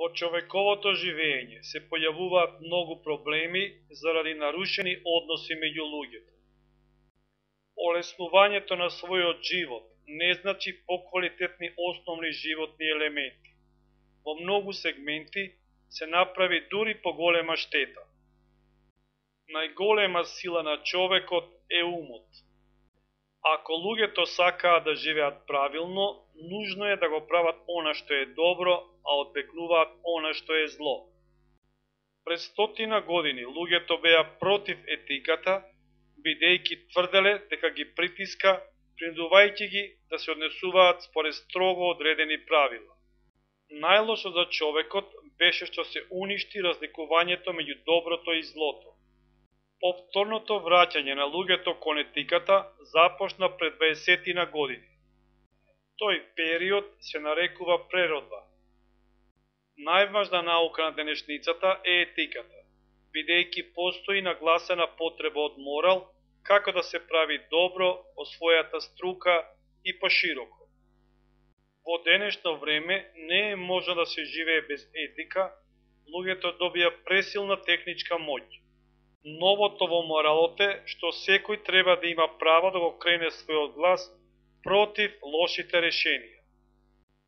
Во човековото живење се појавуваат многу проблеми заради нарушени односи меѓу луѓето. Олеснувањето на својот живот не значи поквалитетни основни животни елементи. Во многу сегменти се направи дури поголема штета. Најголема сила на човекот е умот. Ако луѓето сакаат да живеат правилно, нужно е да го прават она што е добро, а одбегнуваат она што е зло. Пред 100 години луѓето беа против етиката, бидејќи тврделе дека ги притиска, принудувајќи ги да се однесуваат според строго одредени правила. Најлошо за човекот беше што се уништи разликувањето меѓу доброто и злото. Повторното враќање на луѓето кон етиката започна пред 20 години. Тој период се нарекува преродба. Најважна наука на денешницата е етиката, бидејќи постои нагласена потреба од морал, како да се прави добро во својата струка и пошироко. Во денешно време не е можно да се живее без етика, луѓето добија пресилна техничка моќ. Новото во моралот е што секој треба да има право да го крене својот глас против лошите решенија.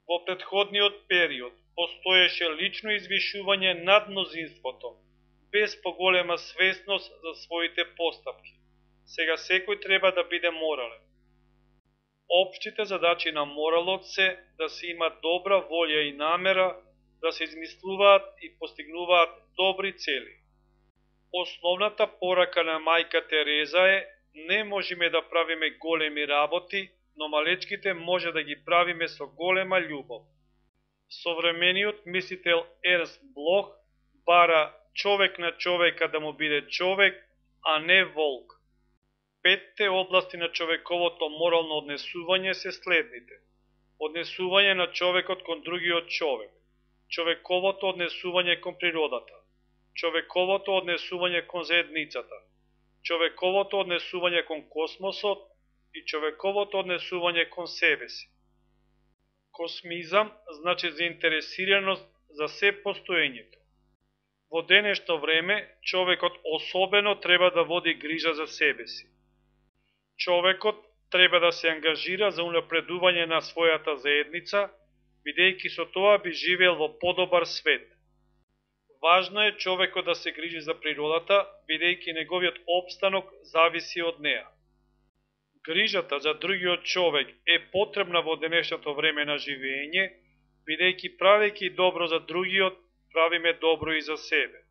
Во претходниот период постоеше лично извишување над мнозинството, без поголема свесност за своите постапки. Сега секој треба да биде морален. Општите задачи на моралот се да се има добра волја и намера, да се измислуваат и постигнуваат добри цели. Основната порака на мајка Тереза е: не можеме да правиме големи работи, но малечките може да ги правиме со голема љубов. Современиот мислител Ернст Блох бара човек на човека да му биде човек, а не волк. 5 области на човековото морално однесување се следните: однесување на човекот кон другиот човек, човековото однесување кон природата, човековото однесување кон заедницата, човековото однесување кон космосот и човековото однесување кон себе си. Космизам значи заинтересираност за се постоењето. Во денешно време човекот особено треба да води грижа за себе си. Човекот треба да се ангажира за унапредување на својата заедница, бидејќи со тоа би живеел во подобар свет. Важно е човекот да се грижи за природата, бидејќи неговиот опстанок зависи од неа. Грижата за другиот човек е потребна во денешното време на живење, бидејќи правејќи добро за другиот, правиме добро и за себе.